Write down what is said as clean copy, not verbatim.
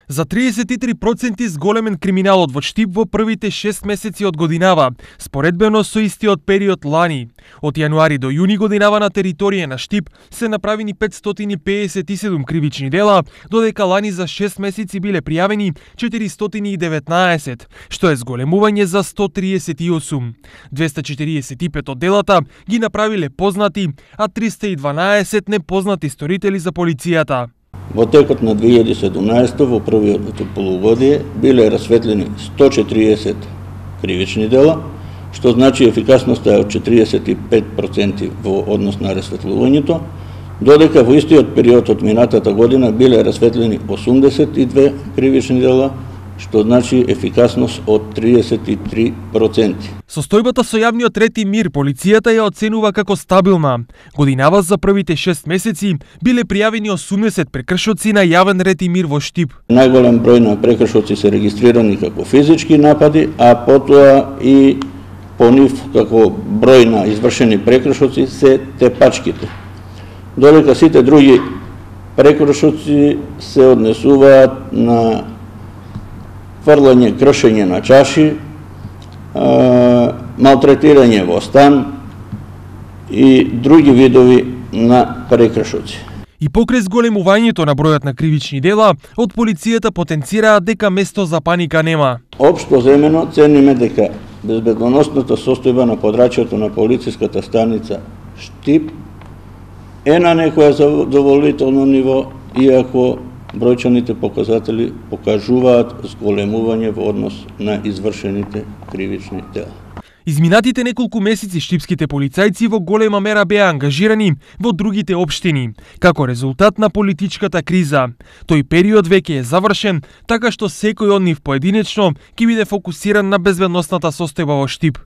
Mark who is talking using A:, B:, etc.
A: За 33% зголемен криминалот во Штип во првите 6 месеци од годинава, споредбено со истиот период лани. Од јануари до јуни годинава на територија на Штип се направени 557 кривични дела, додека лани за 6 месеци биле пријавени 419, што е зголемување за 138. 245 од делата ги направиле познати, а 312 непознати сторители за полицијата.
B: Во текот на 2017 во првиот полугодие биле расветлени 140 кривични дела, што значи ефикасноста е од 45% во однос на расветлувањето, додека во истиот период од минатата година биле расветлени 82 кривични дела, што значи ефикасност од 33%.
A: Состојбата со јавниот ред и мир полицијата ја оценува како стабилна. Годинава за првите 6 месеци биле пријавени 80 прекршоци на јавен ред и мир во Штип.
B: Најголем број на прекршоци се регистрирани како физички напади, а потоа и по нив како број на извршени прекршоци се тепачките. Додека сите други прекршоци се однесуваат на фрлање, кршење на чаши, малтретирање во стан и други видови на прекршоци.
A: И покрај зголемувањето на бројот на кривични дела, од полицијата потенцираат дека место за паника нема.
B: Општо земено цениме дека безбедносната состојба на подрачјето на полициската станица Штип е на некоја задоволително ниво, иако бројчаните показатели покажуваат зголемување во однос на извршените кривични дела.
A: Изминатите неколку месеци штипските полицајци во голема мера беа ангажирани во другите општини, како резултат на политичката криза. Тој период веќе е завршен, така што секој од нив поединечно ќе биде фокусиран на безбедносната состојба во Штип.